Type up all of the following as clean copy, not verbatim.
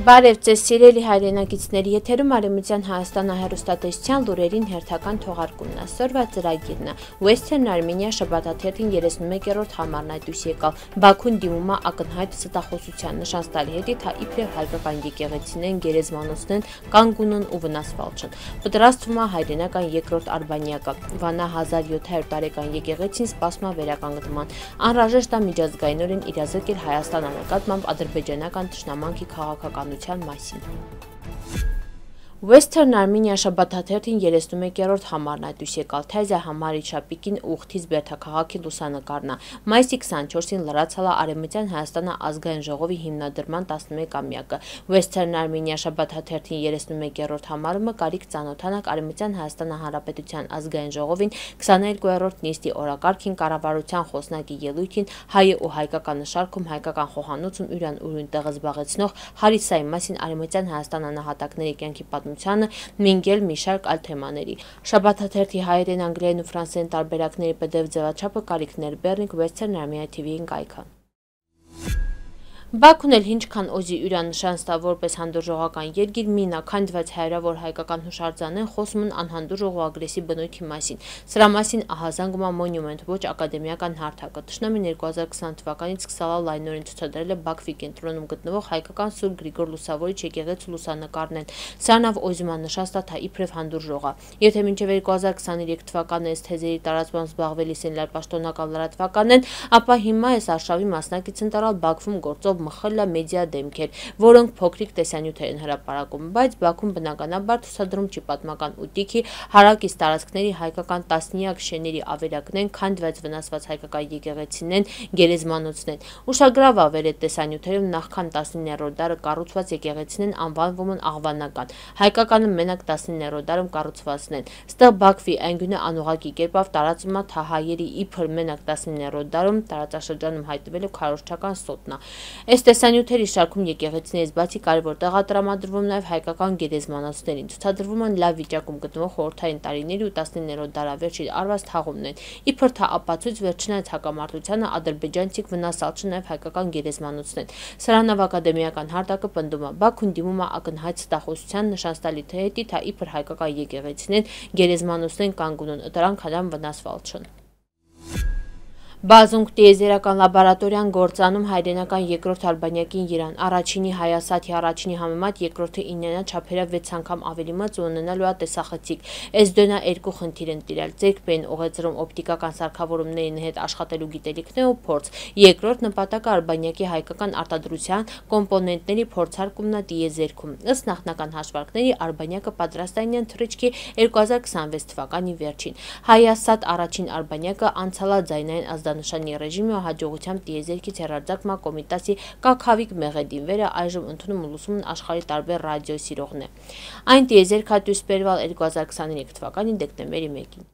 Բարև ձեզ սիրելի հայրենակիցների, եթերում Արևմտյան Հայաստանը հեռուստատեսության լուրերին հերթական թողարկումն է։ Սորվա ծրագիրն է Western Armenia շաբաթաթերթին 31-րդ համարն այդուս եկալ։ Բաքուն դիմում է ակնհայտ ստախոսության նշան տալի հետի, թա իբրև հայկական եկեղեցիներն գերեզմանոցներն կանգունն ու վնասվալ չն։ Պատրաստվում է հայրենական երկրորդ արբանյակը։ Վանա 1700 տարեկան եկեղեցին սպասում է վերականգնման։ Անհրաժեշտ է միջազգայինորեն իրազեկել Հայաստան նկատմամբ ադրբեջանական թշնամանքի քաղաքականության մասին։ Western Armenia շաբաթաթերթին 31-րդ համարն այդուս եկալ, թեզը համարի շապիկին ուղթից բերդաքաղաքի լուսանկարն է։ Մայիսի 24-ին լրացալ է Արևմտյան Հայաստանը ազգային ժողովի հիմնադրման 11-ամյակը։ Western Armenia շաբաթաթերթին 31-րդ համարումը կարիք ծանոթանակ Արևմտյան Հայաստանը Հանրապետության ազգային ժողովին 22-րդ նիստի օրակարգին կառավարության խոսնակի ելույթին հայը ու հայկական նշարքում հայկական խոհանոցում յուրան ուրույն տեղ զբաղեցնող Հարիսայի մասին Արևմտյան Հայաստան անհատակների կյանքի մինգել մի շարք այլ թեմաների։ Շաբաթաթերթի հայերեն, անգլերեն ու ֆրանսերեն տարբերակների PDF ձևաչափը կարիքներ Բեռնիկ Western Armenia TV-ին կայքը։ Բաքուն էլ ինչքան օզի յուրան նշան ստա որպես հանդուրժողական երկիր մինա քանդված հայրավոր հայկական հուշարձանեն խոսում են անհանդուրժող ու ագրեսիվ բնույթի մասին։ Սրա մասին ահազանգում է Monument ոչ ակադեմիական հարթակը։ Թշնամին 2020 թվականից սկսալ լայնորեն ցուցադրել է Բաքվի կենտրոնում գտնվող հայկական Սուրբ Գրիգոր Լուսավորիչ եկեղեցու լուսանկարներն։ Սրանով օզիման նշան ստա թա իբրև հանդուրժող է։ Եթե մինչև 2023 թվականը այս թեզերի տարածմամբ զբաղվելիս են լրապաշտոնական լրատվականն, ապա հիմա այս արշավի մասնակից են տարալ Բաքվում գործող մխլա մեդիա դեմքեր, որոնք փոքրիկ տեսանյութեր են հրապարակում, բայց Բաքուն բնականաբար ցուցադրում չի պատմական ուտիքի հարակից տարածքների հայկական տասնյակ շեների ավերակներն, քանդված վնասված հայկական եկեղեցիներն, գերեզմանոցներն։ Ուշագրավ ավեր է տեսանյութերում նախքան 19-րդ դարը կառուցված եկեղեցիներն անվանվում են աղվանական, հայկականը մենակ 19-րդ դարում կառուցվածն են։ Ստեղ Բաքվի անգյունը անուղակի կերպով տարածվում է թահայերի իբր մենակ 19-րդ դարում տարածաշրջանում հայտնվելու քարոզչական սոտնա։ Այս տեսանյութերի շարքում եկեղեցիներից բացի կարևոր տեղ է տրամադրվում նաև հայկական գերեզմանոցներին, ցուցադրվում են լավ վիճակում գտնվող խորհրդային տարիների ու 19-րդ դարավերջի արված թաղումներն։ Իբր թա ապացույց վերջնայց հակամարտությանը ադրբեջանցիք վնասալ չն նաև հայկական գերեզմանոցներն։ Սրանով ակադեմիական հարթակը պնդում է Բաքուն դիմում է ակնհայտ ստախոսության նշան տալի թե հետի թա իբր հայկական եկեղեցիներն գերեզմանոցներն կանգուն են դրանք հադամ վնասվալ չն։ Բազունգ տիեզերական լաբորատորիան գործանում հայրենական երկրորդ արբանյակին Իրան։ Առաջինի Հայասաթի առաջինի համեմատ երկրորդը իննենա չափերով 6 անգամ ավելի մծ ու ունենալու է տեսախցիկ։ SDN-ը երկու խնդիր են տիրել՝ ձերբեն ուղեծրում օպտիկական սարքավորումների հետ աշխատելու գիտելիքներ ու փորձ։ Երկրորդ նպատակը արբանյակի հայկական արտադրության կոմպոնենտների փորձարկումն է տիեզերքում։ Ըստ նախնական հաշվարկների արբանյակը պատրաստ է ինյան թռիչքի 2026 թվականի վերջին։ Հայասաթ առաջին արբանյակը անցալ է ձայնային նշանի ռեժիմի ու հաջողությամբ տիեզերքից հեռարձակման կոմիտասի Կաքավիկ Մեղեդին վերը այժմ ընդունում ու լսում են աշխարհի տարբեր ռադիոսիրողներ։ Այն տիեզերք դուրս բերվել 2023 թվականի դեկտեմբերի 1-ին։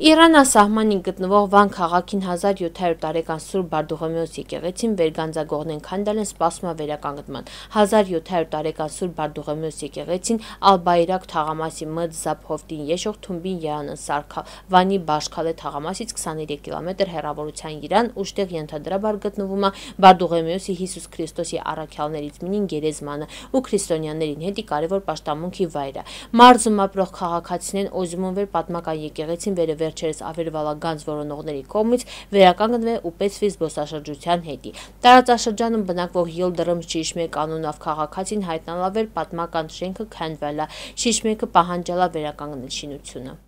Իրանասահմանին գտնվող Վան քաղաքին 1700 տարեկան Սուրբ Բարդուղիմեոս եկեղեցին վերգանձագողներն քանդել են սպասում է վերականգնման։ 1700 տարեկան Սուրբ Բարդուղիմեոս եկեղեցին Ալ-Բայրակ թաղամասի Մդ Զափհովտին եշող թումբին Երանն սարքալ Վանի Բաշքալե թաղամասից 23 կիլոմետր հեռավորության Իրան, ուշտեղ ենթադրաբար գտնվում է Բարդուղիմեոսի Հիսուս Քրիստոսի առաքյալներից մինին գերեզմանը ու քրիստոնյաներին հետի կարևոր պաշտամունքի վայրը։ Մարզում ապրող քաղաքացիներն օզիմուն վեր պատմական եկեղեցին վերը վերջերս ավերվալագանձ որոնողների կողմից վերականգնվել ու պեցվի զբոսաշրջության հետի։ Տարածաշրջանում բնակվող Յիլդրմ Շիշմեկ անունով քաղաքացին հայտնալավեր պատմական շենքը քանդվել է։ Շիշմեկը պահանջել է վերականգնել շինությունը։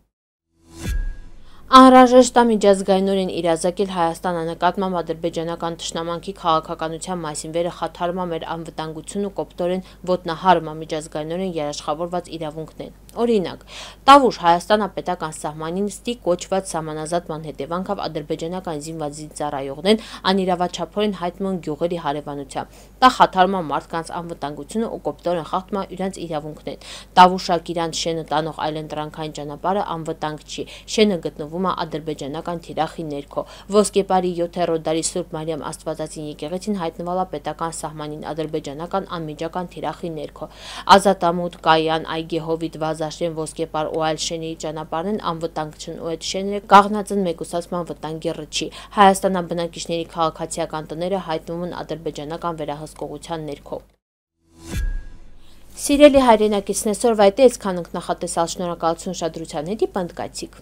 Անհրաժեշտ է միջազգայինորեն իրազեկել Հայաստանը նկատմամբ ադրբեջանական թշնամանքի քաղաքականության մասին վերը խաթարում է մեր անվտանգությունն ու կոպտորեն ոտնահարում է միջազգայինորեն երաշխավորված իրավունքներն։ Օրինակ, Տավուշ Հայաստանապետական սահմանին ստի կոչված սահմանազատման հետևանքով ադրբեջանական զինված ծառայողներն անիրավաչափորեն հայտնում են գյուղերի հարևանությամբ։ Դա խաթարում է մարդկանց անվտանգությունը ու կոպտորեն խախտում է իրենց իրավունքներն։ Տավուշակ իրանց շենը տանող այլընտրանքային ճանապարհը անվտանգ չի։ Շենը գտնվում գտնվում է ադրբեջանական թիրախի ներքո։ Ոսկեպարի 7-րդ դարի Սուրբ Մարիամ Աստվածածին եկեղեցին հայտնվել է պետական սահմանին ադրբեջանական անմիջական թիրախի ներքո։ Ազատամուտ, Կայան, Այգեհովիտ, Վազաշեն, Ոսկեպար ու այլ շեների ճանապարհն անվտանգ չն ու այդ շենները կաղնած են մեկուսացման վտանգի ռճի։ Հայաստանյան բնակիչների քաղաքացիական տները հայտնվում են ադրբեջանական վերահսկողության ներքո։ Սիրելի հայրենակիցներ, այսօրվա այդ է, այսքան ենք նախատեսալ, շնորհակալություն ուշադրության հետ, պնդկացիք։